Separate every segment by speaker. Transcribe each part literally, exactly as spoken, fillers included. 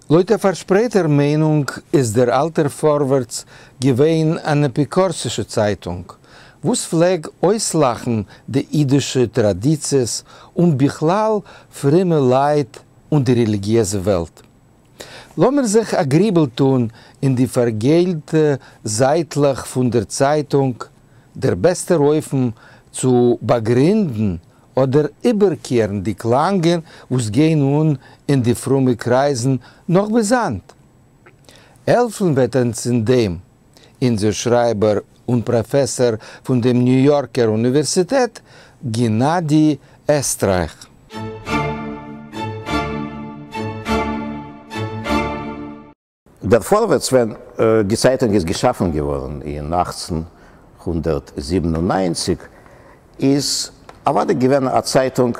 Speaker 1: לויט א פארשפרייטער מיינונג איז דער אלטער פארווערטס געווען אן אפיקורסישע צייטונג, וואס פלעג אויסלאכן די אידישע טראדיציעס און בכלל פרומע לייט און די רעליגיעזע וועלט. לאמיר זיך א גריבל טאן אין די פארגעלטע זייטלעך פון דער צייטונג, דער בעסטער אופן צו באגרינדן אדער איבערקערן די קלאנגען וואס גייען אן אין די פרומע קרייזן נאך ביז היינט. העלפן וועט אונז אין דעם אונזער שרייבער און פראפעסאר פון דעם ניו יארקער אוניווערסיטעט, גענאדי עסטרייך.
Speaker 2: דער פארווערטס ווען די צייטונג איז געשאפן געווארן אין אַכצן הונדערט זיבן און נײַנציק איז אוודאי געווען א צייטונג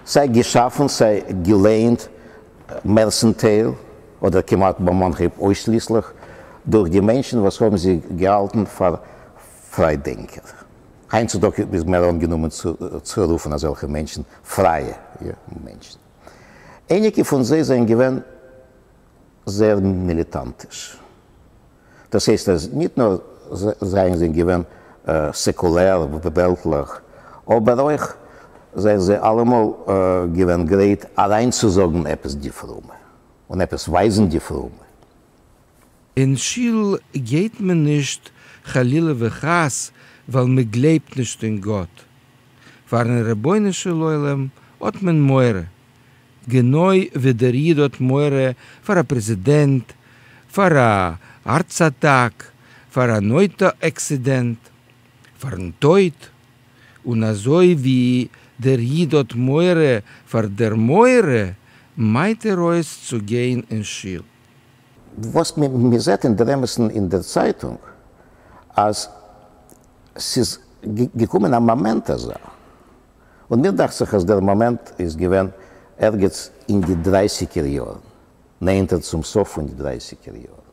Speaker 2: סיי געשאפן סיי געלייענט מערסנטייל אדער כמעט ביים אנהייב אויסשליסליך דורך די מענטשן וואס האבן זיך געהאלטן פאר פריידענקער. היינט צו טאג איז מער אנגענומען צו רופן אזעלכע מענטשן פרייע מענטשן. אייניקע פון זיי זענען געווען זייער מיליטאנטיש. דאס הייסט אז ניט נאר זענען זיי געווען סעקולער, וועלטלעך, אבער אויך זענען זיי אלעמאל געווען גרייט אריינצוזאגן עפעס די פרומע און עפעס ווייזן די פרומע.
Speaker 1: אין שול גייט מען נישט חלילה וחס ווייל מען גלייבט נישט אין גאט. פארן רבונו של עולם האט מען מורא, גענוי ווי דער איד האט מורא פאר א פרעזידענט, פאר א הארץ אטאק, פאר אן אויטא עקסידענט, פארן טויט, און אזוי ווי דער איד האט מורא פאר דער מורא, מיידט ער אויס צו גיין אין שול.
Speaker 2: וואס מען זעט אין דער אמת'ן אין דער צייטונג, אז ס'איז געקומען א מאמענט אזא, און מיר דאכט זיך אז דער מאמענט איז געווען ערגעץ אין די דרייסיגער יארן, נענטער צום סוף פון די דרייסיגער יארן,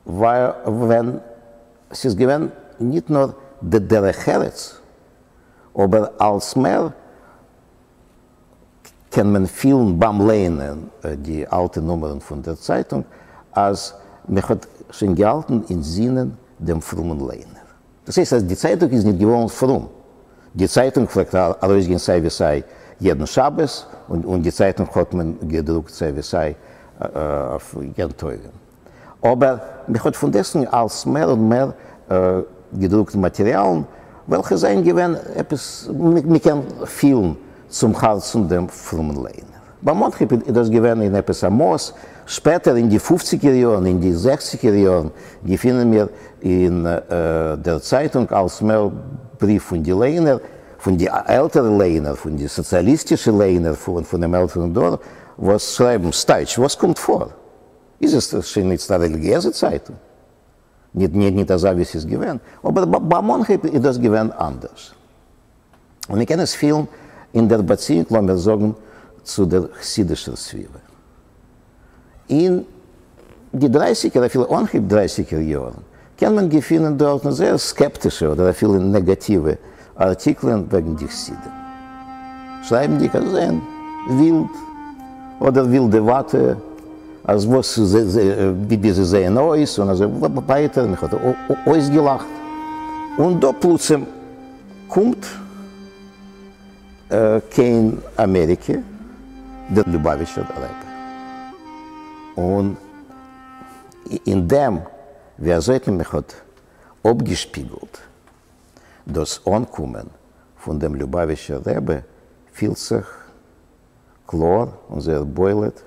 Speaker 2: ווייל ווען ס'איז געווען ניט נאר די דרך ארץ, אבער אלס מער קען מען פילן ביים לייענען די אלטע נומערן פון דער צייטונג, אז מען האט שוין געהאלטן אין זינען דעם פרומען לייענער. דאס הייסט אז די צייטונג איז ניט געווארן פרום. די צייטונג פלעגט ארויסגיין סיי ווי סיי יעדן שבת, און די צייטונג האט מען געדרוקט סיי ווי סיי אויף יום טובים. אבער מען האט פונדעסטוועגן אלס מער און מער געדרוקט מאטעריאלן וועלכע זענען געווען עפעס, מען קען פילן צום הארצן דעם פרומען לייענער. ביים אנהייב איז דאס געווען אין עפעס א מאס, שפעטער אין די פופציגער יארן, אין די זעכציגער יארן, געפינען מיר אין דער צייטונג אלס מער בריוו פון די לייענער, פון די עלטערע לייענער, פון די סאציאליסטישע לייענער פונעם עלטערן דור, וואס שרייבן, סטייטש, וואס קומט פאר? איז עס שוין איצט א רעליגיעזע צייטונג? ניט ניט אזא ווי ס'איז געווען, אבער ביים אנהייב איז דאס געווען אנדערש. און מ'קען עס פילן אין דער באציאונג, לאמיר זאגן, צו דער חסידישער סביבה. אין די דרייסיגער, אפילו אנהייב דרייסיגער יארן, קען מען געפינען דארטן זייער סקעפטישע אדער אפילו נעגאטיווע ארטיקלען וועגן די חסידים, שרייבנדיג אז זיי זענען ווילד אדער ווילדעוואטע, אז וואס ווי זיי זעען אויס און אזוי ווייטער, מען האט אויסגעלאכט. און דא פלוצים קומט קיין אמעריקע דער ליובאוויטשער רבי, און אין דעם ווי אזוי מען האט אפגעשפיגלט דאס אנקומען פון דעם ליובאוויטשער רבי, פילט זיך קלאר און זייער בולט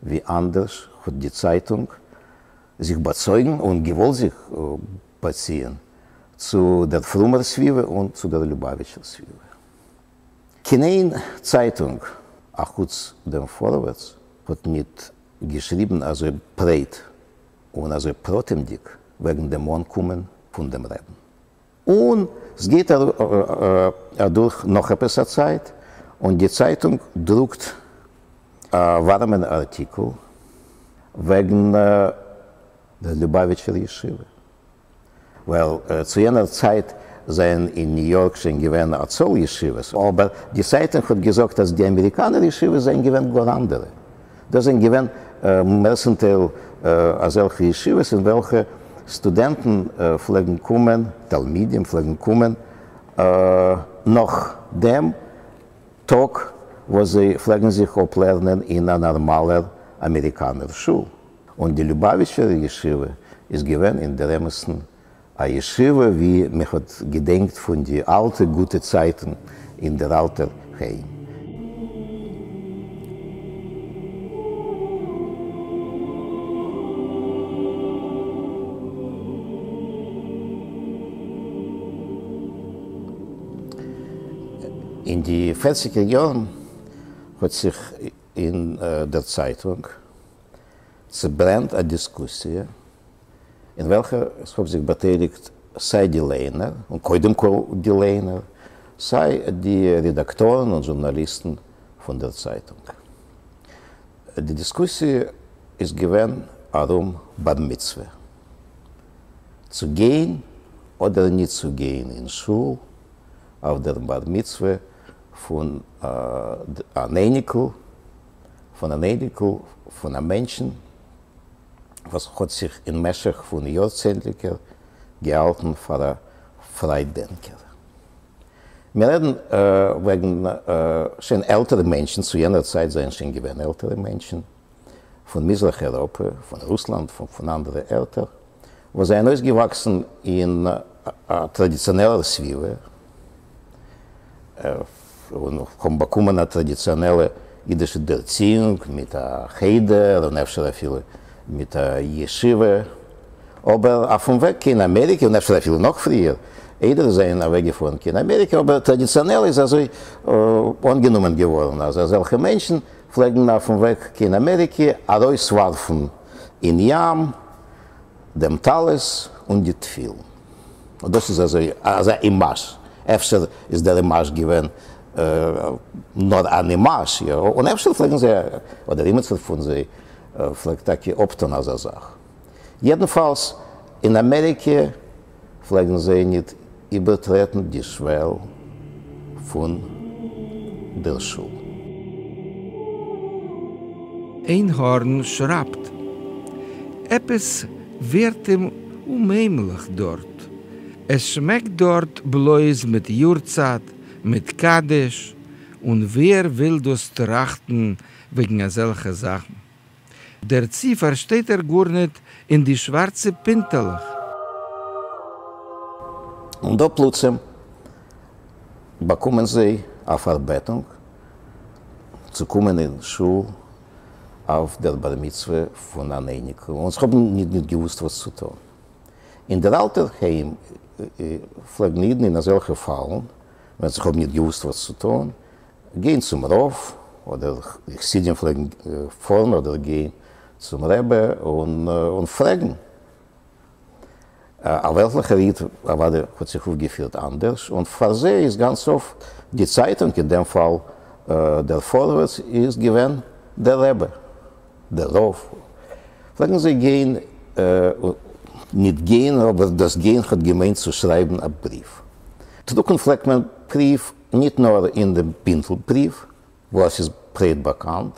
Speaker 2: ווי אנדערש האט די צייטונג זיך באצויגן און געוואלט זיך באציען צו דער פרומער סביבה און צו דער ליובאוויטשער סביבה. קיין איין צייטונג אחוץ דעם פארווערטס האט ניט געשריבן אזוי ברייט און אזוי פרטימדיק וועגן דעם אנקומען פון דעם רעבן. און ס'גייט אדורך נאך עפעס א צייט, און די צייטונג דרוקט א ווארעמען ארטיקל וועגן דער ליובאוויטשער ישיבה. ווייל צו יענער צייט זענען אין ניו יארק שוין געווען א צאל ישיבות, אבער די צייטונג האט געזאגט אז די אמעריקאנער ישיבות זענען געווען גאר אנדערע. דאס זענען געווען מערסטנטייל אזעלכע ישיבות אין וועלכע סטודענטן פלעגן קומען, תלמידים פלעגן קומען נאך דעם טאג וואס זיי פלעגן זיך אפלערנען אין א נארמאלער אמעריקאנער שול. און די ליובאוויטשער ישיבה איז געווען אין דער אמת'ן א ישיבה ווי מען האט געדענקט פון די אלטע גוטע צייטן אין דער אלטער היים. אין די פערציגער יארן האט זיך אין דער צייטונג צעברענט א דיסקוסיע אין וועלכער עס האבן זיך באטייליגט סיי די לייענער, און קודם כל די לייענער, סיי די רעדאקטארן און זשורנאליסטן פון דער צייטונג. די דיסקוסיע איז געווען ארום בר מצוה, צו גיין אדער ניט צו גיין אין שול אויף דער בר מצוה פון אן אייניקל, פון אן אייניקל פון א מענטשן וואס האט זיך אין משך פון יארצענדליגער געהאלטן פאר א פריידענקער. מיר רעדן וועגן שוין עלטערע מענטשן, צו יענער צייט זענען שוין געווען עלטערע מענטשן, פון מזרח אייראפע, פון רוסלאנד, פון אנדערע ערטער, וואס זענען אויסגעוואקסן אין א טראדיציאנעלער סביבה, און האבן באקומען א טראדיציאנעלע אידישע דערציאונג מיט א חדר און אפשר אפילו מיט א ישיבה, אבער אויפן וועג קיין אמעריקע, און אפשר אפילו נאך פריער, איידער זיי זענען אוועקגעפארן קיין אמעריקע, אבער טראדיציאנעל איז אזוי אנגענומען געווארן אז אזעלכע מענטשן פלעגן אויפן וועג קיין אמעריקע ארויסווארפן אין ים דעם טלית און די תפילין. און דאס איז אזוי אזא אימאזש, אפשר איז דער אימאזש געווען נאר אן אימאזש, יא, און אפשר פלעגן זיי, אדער אימיצער פון זיי פלעגט טאקע אפטון אזא זאך. יעדנפאלס, אין אמעריקע פלעגן זיי ניט איבערטרעטן די שוועל פון דער שול.
Speaker 1: איינהארן שרייבט, עפעס ווערט אים אומהיימליך דארט. עס שמעקט דארט בלויז מיט יארצייט, מיט קדיש, און ווער וויל דאס טראכטן וועגן אזעלכע זאכן? דערצו פארשטייט ער גארניט אין די שווארצע פינטעלעך.
Speaker 2: און דא פלוצים באקומען זיי א פארבעטונג צו קומען אין שול אויף דער בר מצוה פון אן אייניקל, און זיי האבן ניט געוואוסט וואס צו טאן. אין דער אלטער היים פלעגן אידן אין אזעלכע פאלן, ווען זיי האבן ניט געוואוסט וואס צו טאן, גיין צום רב, אדער חסידים פלעגן פארן אדער גיין צום רבי און פרעגן. א וועלטליכער איד אוודאי האט זיך אויפגעפירט אנדערש, און פאר זיי איז גאנץ אפט די צייטונג, אין דעם פאל דער פארווערטס, איז געווען דער רבי, דער רב. פלעגן זיי גיין, ניט גיין, אבער דאס גיין האט געמיינט צו שרייבן א בריוו. דרוקן פלעגט מען בריוו ניט נאר אין דעם בינטל בריוו, וואס איז ברייט באקאנט,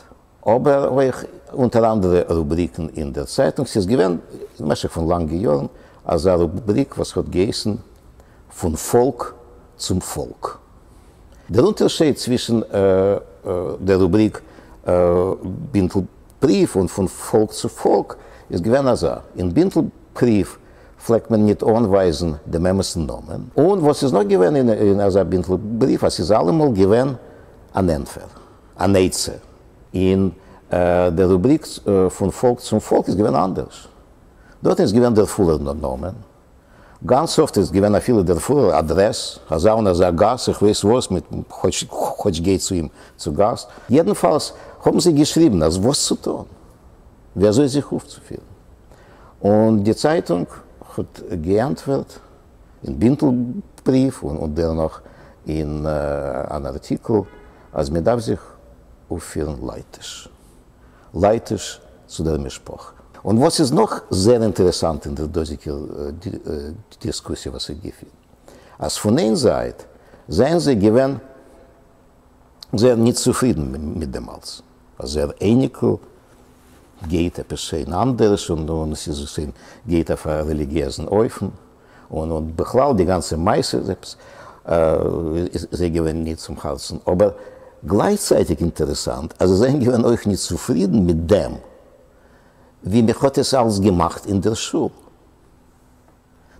Speaker 2: אבער אויך אונטער אנדערע רובריקן אין דער צייטונג. ס'איז געווען אין משך פון לאנגע יארן אזא רובריק וואס האט געהייסן פון פאלק צום פאלק. דער אונטערשייד צווישן דער רובריק בינטל בריוו און פון פאלק צו פאלק איז געווען אזא, אין בינטל בריוו פלעגט מען ניט אנווייזן דעם אמת'ן נאמען, און וואס איז נאך געווען אין אזא בינטל בריוו, אז ס'איז אלעמאל געווען אן ענטפער, אן עצה. אין דער רובריק פון פאלק צום פאלק איז געווען אנדערש. דארט איז געווען דער פולער נאמען, גאנץ אפט איז געווען אפילו דער פולער אדרעס, אזא און אזא גאס, איך ווייס וואס, מיט כאטש גיי צו אים צו גאסט. יעדנפאלס האבן זיי געשריבן אז וואס צו טון, ווי אזוי זיך אויפצופירן. און די צייטונג האט געענטפערט אין בינטל בריוו און דערנאך אין אן ארטיקל אז מען דארף זיך אויפפירן לייטיש, לייטיש צו דער משפחה. און וואס איז נאך זייער אינטערעסאנט אין דער דאזיגער דיסקוסיע וואס איך געפין, אז פון איין זייט זענען זיי געווען זייער ניט צופרידן מיט דעם אלץ, אז זייער אייניקל גייט עפּעס שוין אַנדערש און און עס איז שוין גייט אויף אַ רעליגיעזן אופן און און בכלל די גאַנצע מעשה איז עפּעס איז זיי געווען ניט צום האַרצן. אָבער גלייכצייטיק אינטערעסאַנט, אַז זיי זענען געווען אויך ניט צופרידן מיט דעם, ווי מען האָט עס אַלץ געמאַכט אין דער שול.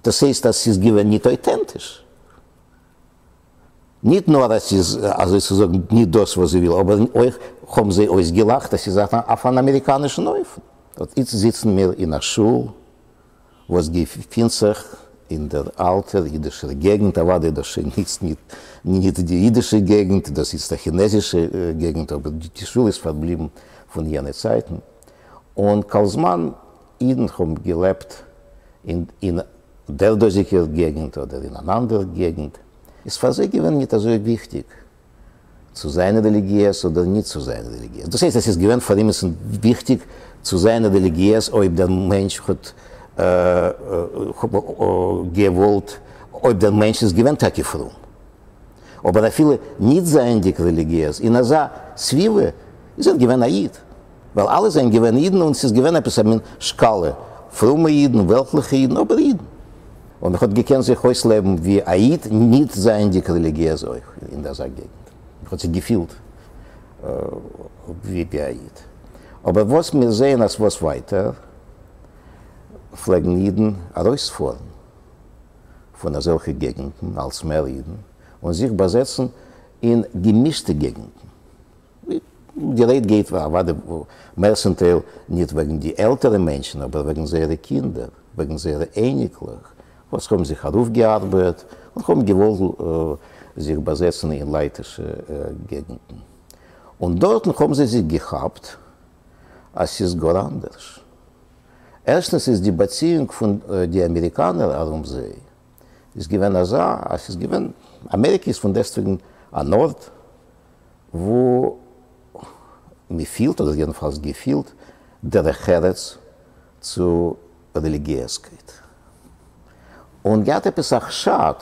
Speaker 2: דאָס הייסט, אַז ס'איז געווען ניט אויטענטיש. ניט נאָר אַז ס'איז, אַזוי צו זאָגן, ניט דאָס, וואָס זי וויל, אָבער אויך האָבן זיי אויסגעלאַכט, אַז ס'איז אויף אַן אַמעריקאַנישן אופן. אָט איצט זיצן מיר אין אַ שול, וואָס געפינט זיך אין דער אַלטער יידישער געגנט, אַוודאי דאָס שוין איצט ניט ניט די יידישע געגנט, דאָס איצט אַ כינעזישע געגנט, אָבער די שול איז פאַרבליבן פון יענע צייטן. און כל זמן אידן האָבן געלעבט אין אין דער דאָזיקער געגנט אָדער אין אַן אַנדער געגנט, איז פאר זיי געווען ניט אזוי וויכטיק צו זיין רעליגיעז אדער ניט צו זיין רעליגיעז. דאס הייסט, עס איז געווען פאר אימעצן וויכטיק צו זיין רעליגיעז אויב דער מענטש האט געוואלט, אויב דער מענטש איז געווען טאקע פרום. אבער אפילו ניט זייענדיק רעליגיעז, אין אזא סביבה איז ער געווען א איד, ווייל אלע זענען געווען אידן און ס'איז געווען עפעס א מין שקאלע, פרומע אידן, וועלטליכע אידן, אבער אידן. און מען האט געקענט זיך אויסלעבן ווי א איד, ניט זייענדיק רעליגיעז אויך אין אזא געגנט. מען האט זיך געפילט ווי א איד. אבער וואס מיר זעען אז וואס ווייטער פלעגן אידן ארויספארן פון אזעלכע געגנטן, אלץ מער אידן, און זיך באזעצן אין געמישטע געגנטן. די רייד גייט אוודאי מערסטנטייל ניט וועגן די עלטערע מענטשן, אבער וועגן זייערע קינדער, וועגן זייערע אייניקלעך, וואס האבן זיך ארויפגעארבעט און האבן געוואלט זיך באזעצן אין לייטישע געגנטן. און דארטן האבן זיי זיך געכאפט אז ס'איז גאר אנדערש. ערשטנס איז די באציאונג פון די אמעריקאנער ארום זיי איז געווען אזא, אז ס'איז געווען, אמעריקע איז פון דעסטוועגן אן ארט וואו מ'פילט, אדער יעדנפאלס געפילט, דרך ארץ צו רעליגיעזקייט. און געהאט עפעס א חשד,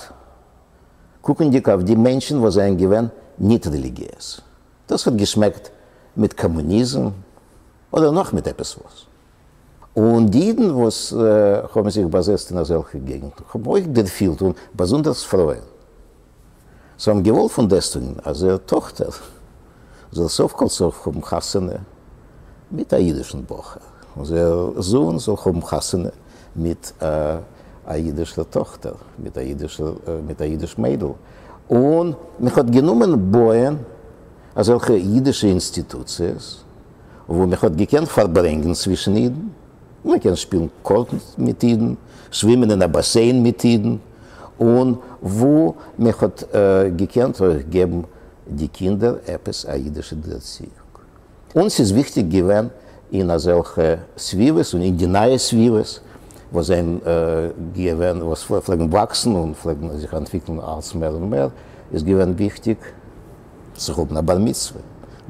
Speaker 2: קוקנדיג אויף די מענטשן וואס זענען געווען ניט רעליגיעז. דאס האט געשמעקט מיט קאמוניזם, אדער נאך מיט עפעס וואס. און די אידן וואס האבן זיך באזעצט אין אזעלכע געגנטן האבן אויך דערפילט, און באזונדערס פרויען, זיי האבן געוואלט פון דעסטוועגן אז זייער טאכטער זאל סוף כל סוף האבן חתונה מיט א אידישן בחור, און זייער זוהן זאל האבן חתונה מיט א אידישער טאכטער, מיט א אידישער, מיט א אידיש מיידל. און מען האט גענומען בויען אזעלכע אידישע אינסטיטוציעס, וואו מען האט געקענט פארברענגען צווישן אידן, מען קען שפילן קארטן מיט אידן, שווימען אין א באסיין מיט אידן, און וואו מען האט געקענט אויך געבן די קינדער עפעס א אידישע דערציאונג. און ס'איז וויכטיג געווען אין אזעלכע סביבות און אין די נייע סביבות וואס זענען געווען, וואס פלעגן וואקסן און פלעגן זיך אנטוויקלן אלץ מער און מער, איז געווען וויכטיג צו האבן א בר מצוה.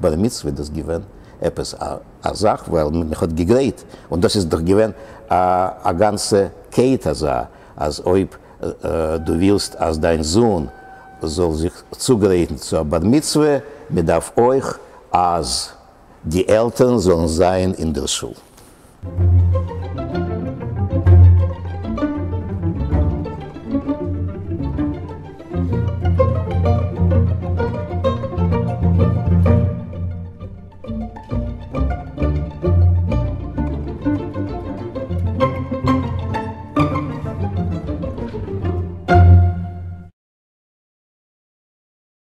Speaker 2: בר מצוה דאס געווען עפעס א זאך ווייל מען האט געגרייט, און דאס איז דאך געווען א גאנצע קייט אזא, אז אויב דו ווילסט אז דיין זון זאל זיך צוגרייטן צו א בר מצוה, מען דארף אויך אז די עלטערן זאלן זיין אין דער שול.